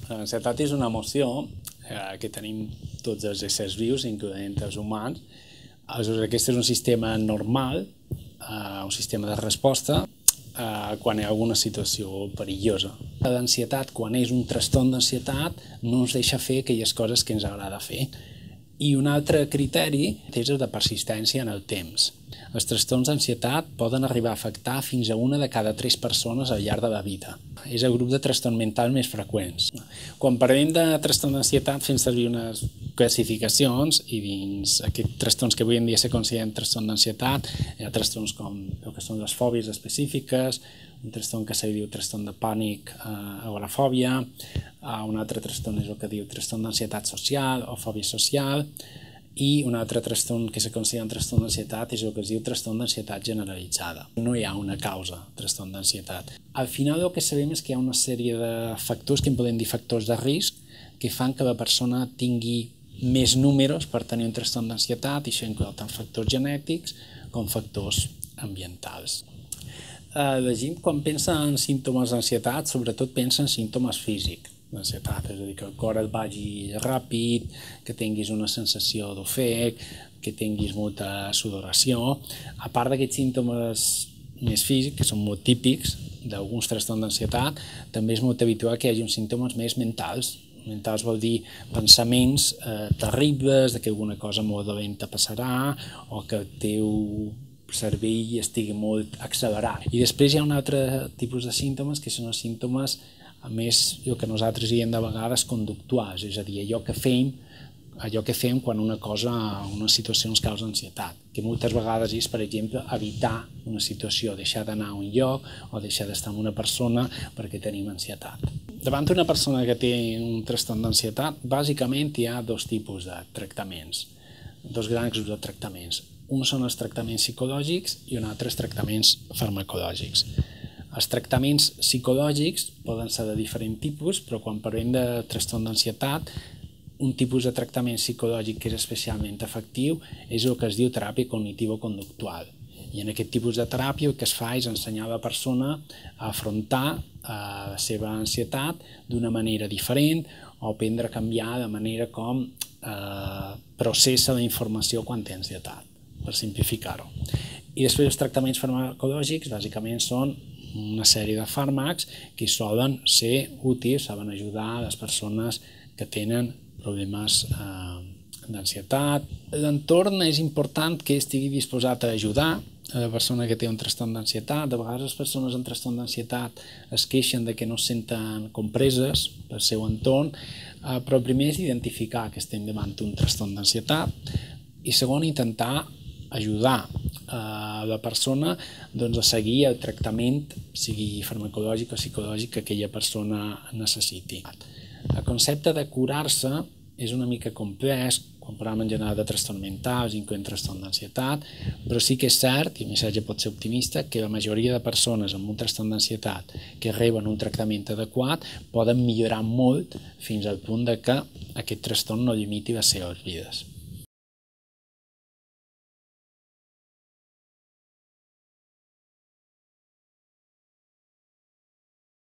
L'ansietat és una emoció que tenim tots els éssers vius, incloent els humans. Aleshores, aquest és un sistema normal, un sistema de resposta quan hi ha alguna situació perillosa. L'ansietat, quan és un trastorn d'ansietat, no ens deixa fer aquelles coses que ens agrada fer. I un altre criteri és el de persistència en el temps. Els trastorns d'ansietat poden arribar a afectar fins a una de cada 3 persones al llarg de la vida. És el grup de trastorn mental més freqüents. Quan parlem de trastorn d'ansietat fem servir unes classificacions i dins aquests trastorns que avui en dia se consideren trastorn d'ansietat hi ha trastorns com el que són les fòbies específiques, un trastorn que se diu trastorn de pànic, agorafòbia, un altre trastorn és el que diu trastorn d'ansietat social o fòbia social, i un altre trastorn que se considera un trastorn d'ansietat és el que es diu trastorn d'ansietat generalitzada. No hi ha una causa trastorn d'ansietat. Al final el que sabem és que hi ha una sèrie de factors que en podem dir factors de risc que fan que la persona tingui més números per tenir un trastorn d'ansietat, i això inclou tant factors genètics com factors ambientals. La gent, quan pensa en símptomes d'ansietat, sobretot pensa en símptomes físics d'ansietat, és a dir, que el cor et vagi ràpid, que tinguis una sensació d'ofec, que tinguis molta sudoració. A part d'aquests símptomes més físics, que són molt típics d'alguns trastorns d'ansietat, també és molt habitual que hi hagi uns símptomes més mentals. Mentals vol dir pensaments terribles, que alguna cosa molt dolenta passarà o que el teu cervell estigui molt accelerat. I després hi ha un altre tipus de símptomes que són els símptomes més el que nosaltres diem de vegades conductuals, és a dir, allò que fem quan una situació ens causa ansietat, que moltes vegades és, per exemple, evitar una situació, deixar d'anar a un lloc o deixar d'estar amb una persona perquè tenim ansietat. Davant d'una persona que té un trastorn d'ansietat, bàsicament hi ha dos tipus de tractaments, dos grans grups de tractaments. Un són els tractaments psicològics i un altre els tractaments farmacològics. Els tractaments psicològics poden ser de diferent tipus, però quan parlem de trastorn d'ansietat, un tipus de tractament psicològic que és especialment efectiu és el que es diu teràpia cognitivo-conductual. I en aquest tipus de teràpia el que es fa és ensenyar a la persona a afrontar la seva ansietat d'una manera diferent o aprendre a canviar de manera com processa la informació quan té ansietat, per simplificar-ho. I després els tractaments farmacològics bàsicament són una sèrie de fàrmacs que solen ser útils, saben ajudar a les persones que tenen problemes d'ansietat. L'entorn és important que estigui disposat a ajudar a la persona que té un trastorn d'ansietat. De vegades les persones amb trastorn d'ansietat es queixen de que no es senten compreses pel seu entorn, però el primer és identificar que estem davant d'un trastorn d'ansietat i segon, intentar ajudar a la persona a seguir el tractament, sigui farmacològic o psicològic, que aquella persona necessiti. El concepte de curar-se és una mica complex quan parlem en general de trastorns mentals, incloent trastorn d'ansietat, però sí que és cert, i el missatge pot ser optimista, que la majoria de persones amb un trastorn d'ansietat que reben un tractament adequat poden millorar molt fins al punt que aquest trastorn no limiti les seves vides.